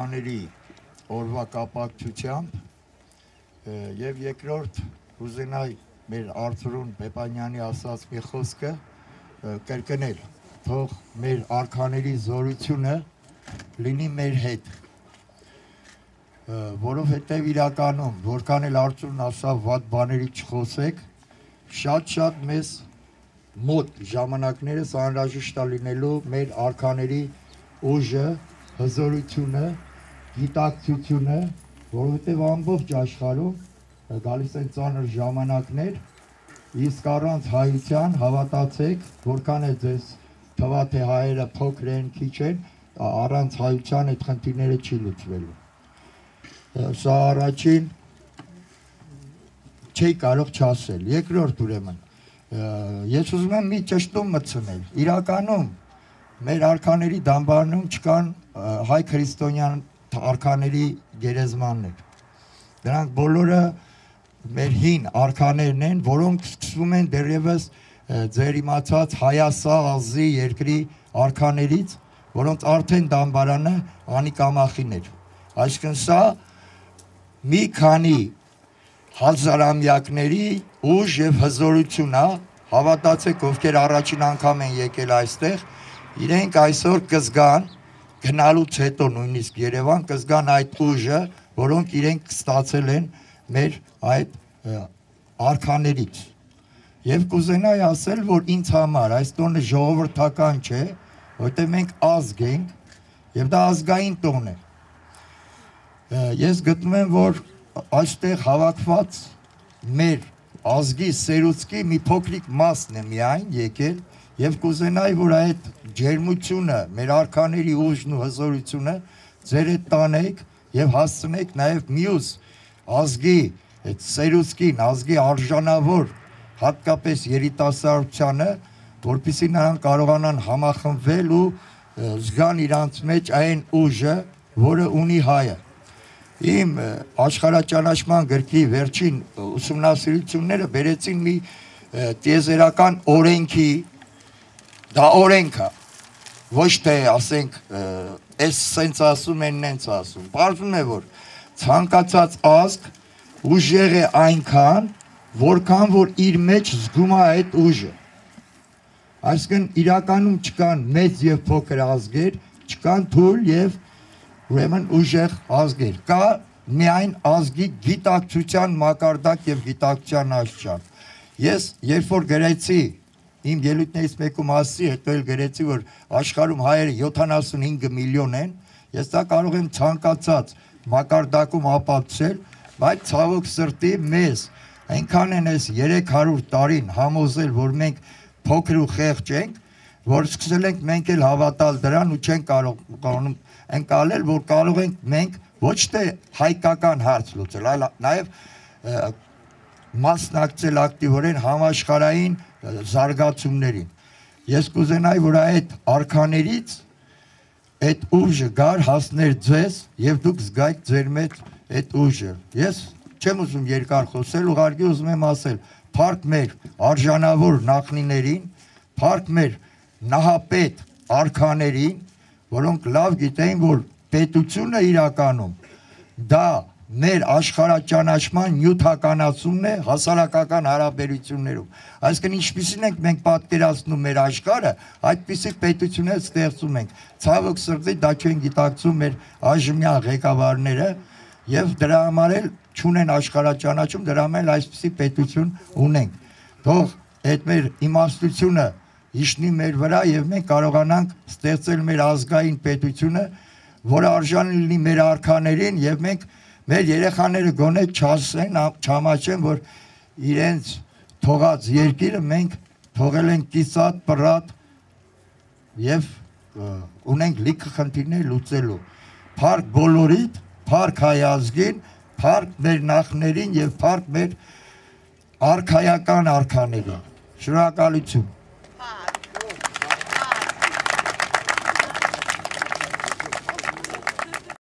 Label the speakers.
Speaker 1: Աների օրվա կապակցությամբ եւ երկրորդ ուզենայի մեր Արծրուն Պեպանյանի ասած մի խոսքը կրկնել, թող մեր արքաների զորությունը լինի մեր հետ, որովհետեւ իրականում որքան էլ Արծրուն ասավ վատ բաների չխոսեք, շատ մեզ մոտ ժամանակներս անհրաժեշտ է լինելու մեր արքաների ուժը, հզորությունը, գիտակցությունը, որովհետև ամբողջ աշխարհում գալիս են ծանր ժամանակներ, իսկ առանց հայության հավատացեք, որքան է ձեզ թվա թե հայերը փոքր են, քիչ են, առանց հայության այդ խնդիրները չի լուծվելու։ Սա առաջին չի կարող չասել։ Երկրորդ ուրեմն, ես ուզում եմ մի ճշտում մտցնել։ Իրականում մեր արքաների դամբարանում չկան հայ քրիստոնյան արքաների գերեզմաններ։ Դրանք բոլորը մեր հին արքաներն են, որոնք սկսվում են դեռևս ձեր իմացած Հայասաղազի երկրի արքաներից, որոնց արդեն դամբարանը անիկամախին էր։ Այսինքն սա մի քանի հազարամյակների ուժ եւ հզորություն է, հավատացեք, ովքեր առաջին անգամ են եկել այստեղ, իրենք այսօր կզգան գնալուց հետո նույնիսկ Երևան կզգան այդ ուժը, որոնք իրենք ստացել են մեր այդ արքաներից։ Եվ կուզենայի ասել, որ ինձ համար այս տոնը ժողովրդական չէ, որտեղ մենք ազգ ենք եւ դա ազգային տոն է։ Ես գտնում եմ, որ այստեղ հավաքված մեր ազգի սերուցքի մի փոքրիկ մասն է միայն եկել եւ կուզենայի, որ այդ ջերմությունը, մեր արքաների ուժն ու հզորությունը ձեր հետ տանեք եւ հասցնեք նաեւ մյուս ազգի այդ սերուցքին, ազգի արժանավոր հատկապես երիտասարդությանը, որպեսզի նրանք կարողանան համախմբվել ու զգան իրանց մեջ այն ուժը, որը ունի հայը։ Իմ աշխարհաճանաչման գրքի վերջին ուսումնասիրությունները բերեցին մի տիեզերական օրենքի, դա օրենք է, ոչ թե ասենք այս սենց ասում են, նենց ասում, պարզվում է, որ ցանկացած ազգ ուժեղ է այնքան, որքան որ իր մեջ զգում է այդ ուժը։ Այսինքն իրականում չկան մեծ եւ փոքր ազգեր, չկան թույլ եւ ուրեմն ուժեղ ազգեր, կա միայն ազգի գիտակցության մակարդակ եւ գիտակցության աշխարհ։ Ես երբ որ գրեցի իմ ելույթներից մեկում ասի, հետո էլ գրեցի, որ աշխարհում հայերը 75 միլիոն են, ես դա կարող եմ ցանկացած մակարդակում ապացուցել, բայց ցավոք սրտի մեզ այնքան են այս 300 տարին համոզել, որ մենք փոքր ու խեղճ ենք, որ սկսել ենք մենք էլ հավատալ դրան ու չենք կարողանում ընկալել, որ կարող ենք մենք ոչ թե հայկական հարց լուծել, այլ նաև մասնակցել ակտիվորեն համաշխարհային զարգացումներին։ Ես կուզենայի, որ այդ արքաներից այդ ուժը գար հասներ ձեզ եւ դուք զգայք ձեր մեջ այդ ուժը։ Ես չեմ ուզում երկար խոսել, ուղղակի ուզում եմ ասել, փառք մեր արժանավոր նախնիներին, փառք մեր նահապետ արքաներին, որոնք լավ գիտեին, որ պետությունը իրականում դա մեր աշխարհաճանաչման նյութականացումն է հասարակական հարաբերություններում։ Այսինքն ինչպիսին ենք մենք պատկերացնում մեր աշխարհը, այդպիսի պետություններ ստեղծում ենք։ Ցավոք սրտի դա չեն գիտակցում մեր այժմյան ղեկավարները եւ դրա համար էլ չունեն աշխարհաճանաչում, դրա համար էլ այսպիսի պետություն ունենք։ Թող այդ մեր իմաստությունը իշնի մեր վրա եւ մենք կարողանանք ստեղծել մեր ազգային պետությունը, որը արժան լինի մեր արքաներին եւ մենք մեր երեխաները գոնե չասեն, չամաչեն, որ իրենց թողած երկիրը մենք թողել ենք կիսատ, պռատ եւ ունենք լիքը խնդիրներ լուծելու։ Փառք բոլորիդ, փառք հայ ազգին, փառք մեր նախներին եւ փառք մեր արքայական արքաներին։ Շնորհակալություն։